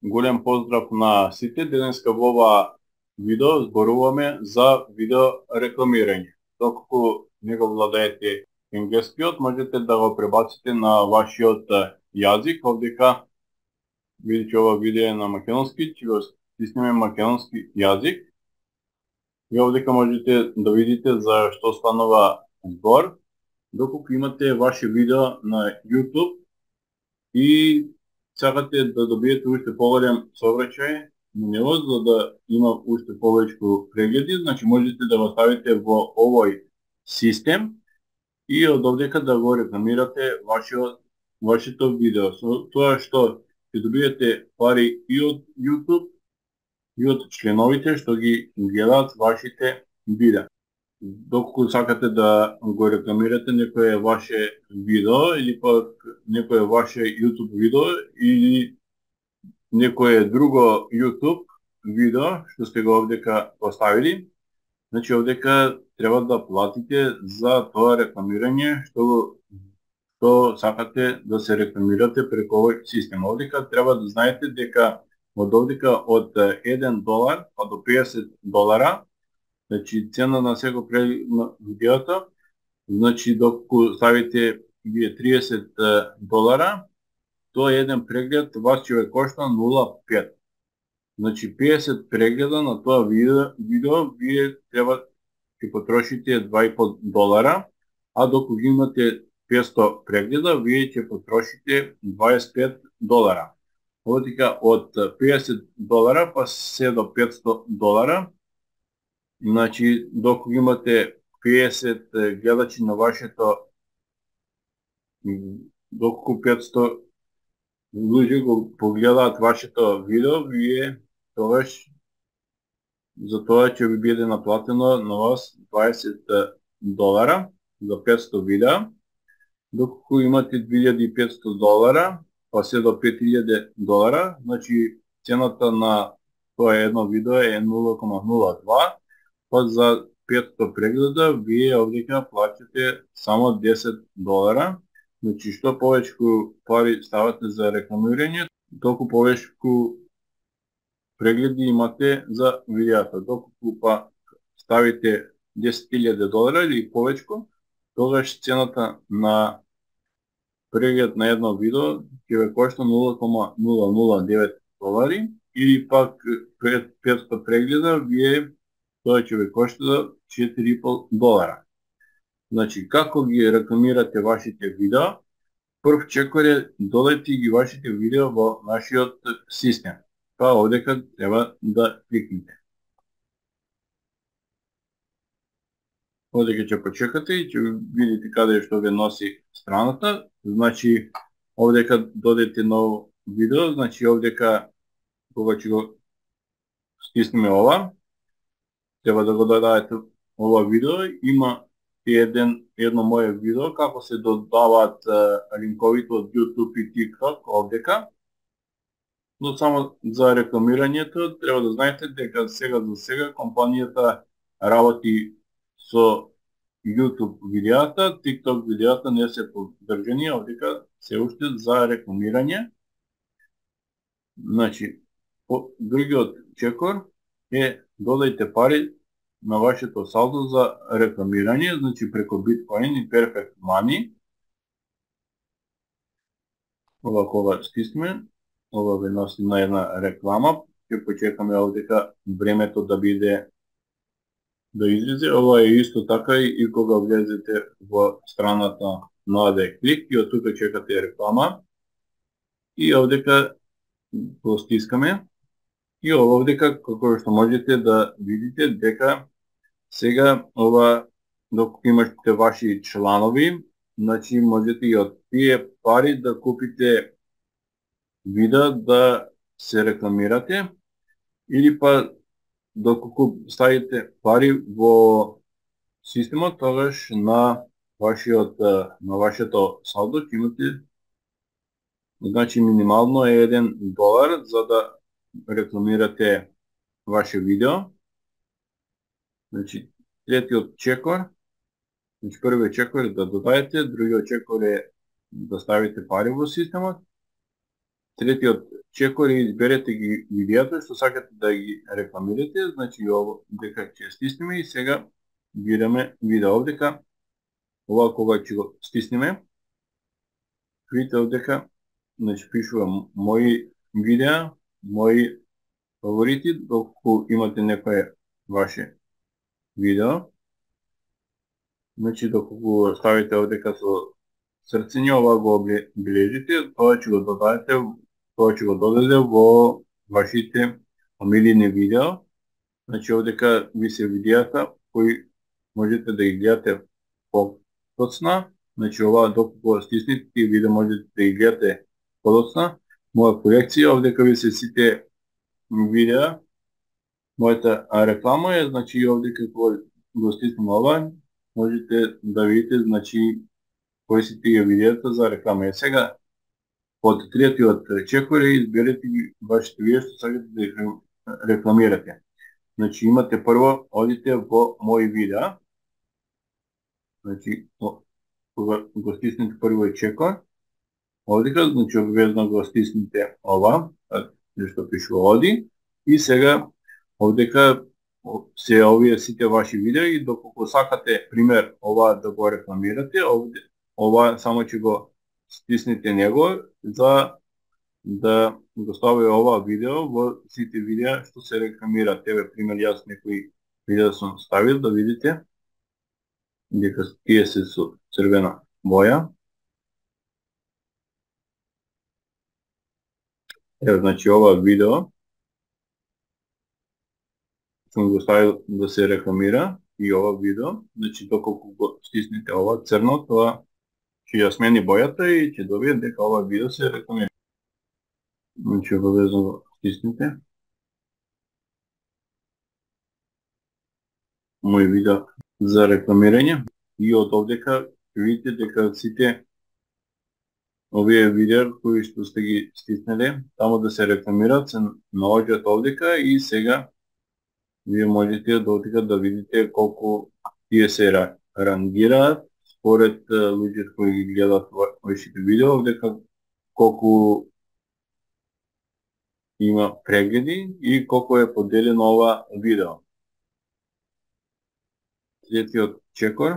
Голем поздрав на сите. Денеска во ова видео зборуваме за видео рекламирање. Доколку не го владеете енглескиот, можете да го пребаците на вашиот јазик. Овдека видите ова видео на македонски, ќе го стиснеме македонски јазик. И овдека можете да видите за што станува збор. Доколку имате ваше видео на YouTube и сакате да добиете уште поголем сообраќај на него, за да има уште повеќе прегледи, значи можете да го ставите во овој систем и од овдека да го рекламирате вашето видео. Со тоа што ќе добиете пари и од YouTube и од членовите што ги гледаат вашите видеа. Доколку сакате да го рекламирате некое ваше видео или пак некое ваше YouTube видео или некое друго YouTube видео што сте го овдека поставили, значи овдека треба да платите за тоа рекламирање што сакате да се рекламирате преку овој систем. Овдека треба да знаете дека од овдека од $1 па до $50, значи цена на секој преглед на видеото, значи доколку ставите вие $30, тоа еден преглед вас ќе ве кошта 0,5. Значи 50 прегледа на тоа видео вие треба ќе потрошите $2,5, а доколку имате 500 прегледа, вие ќе потрошите $25. Овдека од $50 па се до $500, значи доколку имате 50 гледачи на вашето, доколку 500 луѓе го погледаат вашето видео, вие тогаш за тоа ќе ви биде наплатено на вас $20 за 500 видеа. Доколку имате $2,500 па се до $5,000, значи цената на тоа едно видео е 0,02, па за 500 прегледа вие овдека плаќате само $10. Значи што повеќе пари ставате за рекламирање, толку повеќе прегледи имате за видеото. Доколку па ставите $10,000 или повеќе, тогаш цената на преглед на едно видео ќе ве кошта $0,009 или пак 500 прегледа вие тоа ќе ве кошта $4,5. Значи, како ги рекламирате вашите видео? Прв чекор е додајте ги вашите видео во нашиот систем. Па овдека треба да кликнете. Овдека ќе почекате и ќе видите каде што ве носи страната. Значи, овдека додете ново видео, значи овдека кога ќе го стиснеме ова, треба да го додадете ова видео. Има едно мое видео како се додаваат линковите од YouTube и TikTok овдека. Но само за рекламирањето треба да знаете дека сега за сега компанијата работи со YouTube видеата, TikTok видеата не се поддржани, овдека се уште за рекламирање. Значи, другиот чекор е додајте пари на вашето салдо за рекламирање, значи преку Bitcoin и Perfect Money. Ова кога стисме, ова ве носи на една реклама. Ќе почекаме овдека времето да биде да излезе. Ова е исто така и кога влезете во страната на овде клик и од тука чекате реклама. И овдека го стискаме. И овдека како што можете да видите дека сега ова доколку имате ваши чланови, значи можете и од тие пари да купите видео да се рекламирате или па доколку ставите пари во системот, тогаш на вашето салдо ќе имате, значи минимално е $1 за да рекламирате ваше видео. Значи, третиот чекор, значи првиот чекор е да додадете, другиот чекор е да ставите пари во системот Третиот чекор и изберете ги видеата што сакате да ги рекламирате, значи ово дека ќе стиснеме и сега бираме видео овдека. Ова кога ќе го стиснеме, видите овдека, значи пишува мои видеа, мои фаворити, доколку имате некое ваше видео. Значи доколку ставите овдека со срцење, ова го обележите, тоа ќе го додаде во вашите омилени видео. Значи овдека ви се видеата кои можете да ги гледате подоцна. Значи ова доколку стиснете и видео можете да ги гледате подоцна. Моја колекција, овдека ви се сите видеа. Мојата реклама е, значи овдека кога го стиснем ова, можете да видите, значи, кои се тие видеата за реклама. Сега, од третиот чекор изберете ги вашите видеа што сакате да ги рекламирате. Значи, имате прво, одите во мои видеа. Значи, кога го стиснете прво чекор, овдека, значи обвезно го стиснете ова, што пишува оди, и сега овдека се овие сите ваши видеа и доколку сакате, пример, ова да го рекламирате, ова само ќе го стиснете него за да го стави ова видео во сите видеа што се рекламираат. Еве, пример, јас некои видеа сум ставил да видите дека тие се со црвена боја. Еве, значи ова видео сум го ставил да се рекламира и ова видео, значи доколку го стиснете ова црно, тоа ќе ја смени бојата и ќе добие дека ова видео се рекламира. Значи обавезно го стиснете. Мој видео за рекламирање и од овдека видите дека сите овие видеа кои што сте ги стиснеле таму да се рекламираат се наоѓаат овдека и сега вие можете од овдека да видите колку тие се рангираат според луѓето кои ги гледаат вашите видео, овдека колку има прегледи и колку е поделено ова видео. Третиот чекор,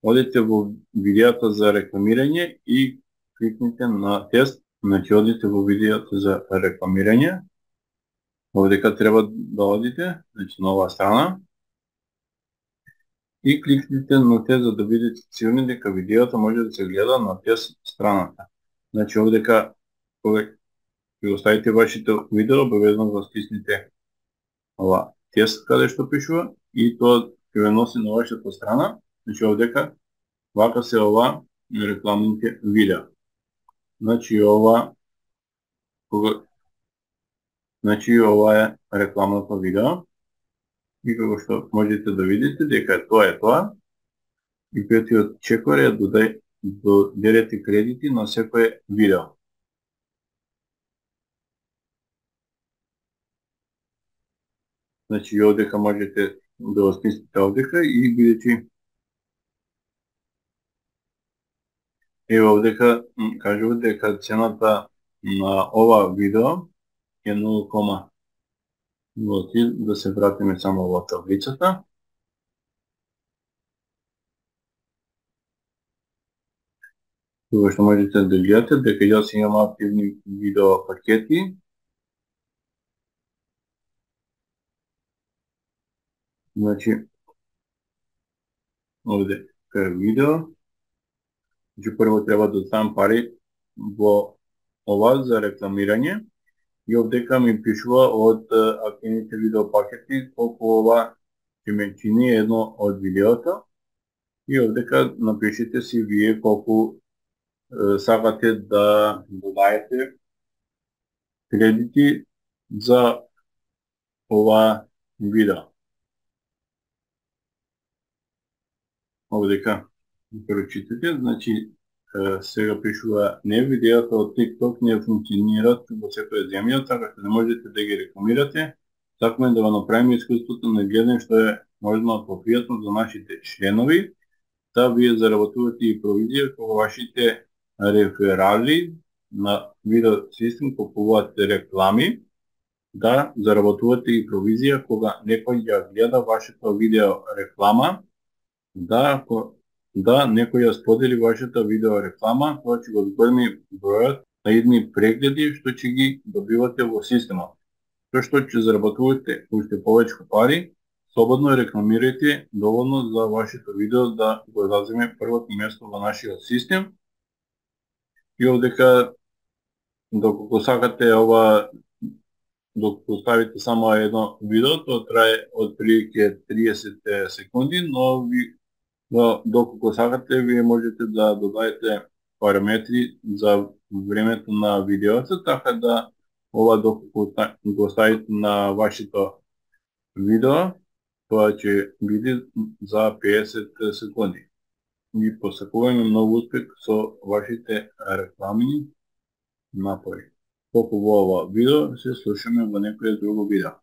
одите во видеото за рекламирање и кликнете на тест, значи одите во видеото за рекламирање. Овдека треба да одите, значи на оваа страна, и кликнете на тест за да видите сигурни дека видеото може да се гледа на тест страната. Значи овдека кога ќе го ставите вашето видео, обавезно го стиснете ова тест каде што пишува и тоа ќе ве носи на вашата страна. Значи овдека вака се ова рекламните видео. Значи ова е рекламното видео и како што можете да видите дека тоа е тоа. И петиот чекор е додерете кредити на секое видео. Значи овдека можете да го стиснете овдека и бидејќи еве овдека кажува дека цената на ова видео е 0,03, да се вратиме само во таблицата. Тоа што можете да гледате дека јас имам активни видео пакети. Значи овде е видео. Значи прво треба да ставам пари во ова за рекламирање и овдека ми пишува од активните видео пакети колку ова ќе ме чини едно од видеото и овдека напишете си вие колку сакате да додаете кредити за ова видео. Овдека прочитате, значи сега пишува не видеото од TikTok не функционираат во секоја земја, така што не можете да ги рекламирате. Сакаме да го направиме искуството на гледање што е можно попријатно за нашите членови, да вие заработувате и провизија кога вашите реферали на видео систем купувате реклами, да заработувате и провизија кога некој ја гледа вашето видео реклама, да некој ја сподели вашата видео реклама, тоа ќе го зголеми бројот на идни прегледи што ќе ги добивате во системот. Тоа што ќе заработувате уште повеќе пари, слободно рекламирајте доволно за вашето видео да го заземе првото место во нашиот систем. И овдека, доколку сакате ова, доколку ставите само едно видео, тоа трае од прилike 30 секунди, но доколку сакате, вие можете да додадете параметри за времето на видеото, така да ова доколку го ставите на вашето видео, тоа ќе биде за 50 секунди. И посакуваме многу успех со вашите рекламни напори. Толку во ова видео, се слушаме во некој друго видео.